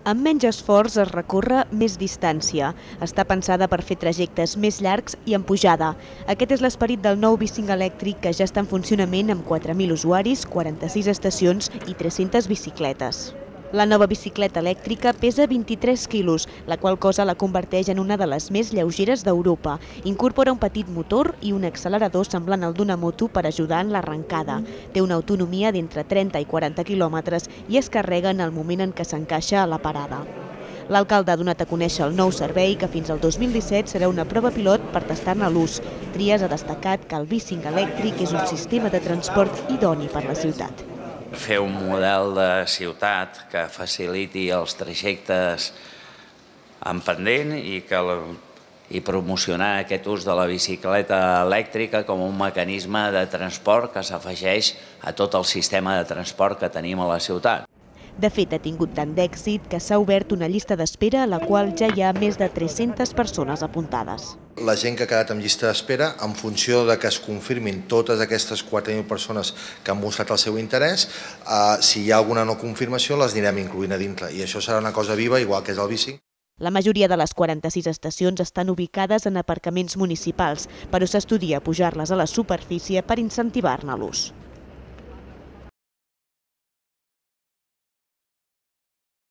Amb menys esforç es recorre més distància. Està pensada per fer trajectes més llargs i en pujada. Aquest és l'esperit del nou bicing elèctric que ja està en funcionament amb 4.000 usuaris, 46 estacions i 300 bicicletes. La nova bicicleta elèctrica pesa 23 quilos, la qual cosa la converteix en una de les més lleugeres d'Europa. Incorpora un petit motor i un accelerador semblant al d'una moto per ajudar en l'arrencada. Té una autonomia d'entre 30 i 40 quilòmetres i es carrega en el moment en què s'encaixa a la parada. L'alcalde ha donat a conèixer el nou servei que fins al 2017 serà una prova pilot per tastar-ne l'ús. Trias ha destacat que el bicing elèctric és un sistema de transport idoni per la ciutat. Fer un model de ciutat que faciliti els trajectes en pendent i promocionar aquest ús de la bicicleta elèctrica com un mecanisme de transport que s'afegeix a tot el sistema de transport que tenim a la ciutat. De fet, ha tingut tant d'èxit que s'ha obert una llista d'espera a la qual ja hi ha més de 300 persones apuntades. La gent que ha quedat en llista d'espera, en funció de que es confirmin totes aquestes 4.000 persones que han mostrat el seu interès, si hi ha alguna no confirmació les anirem incloent a dintre i això serà una cosa viva, igual que és el bicing. La majoria de les 46 estacions estan ubicades en aparcaments municipals, però s'estudia pujar-les a la superfície per incentivar-ne l'ús.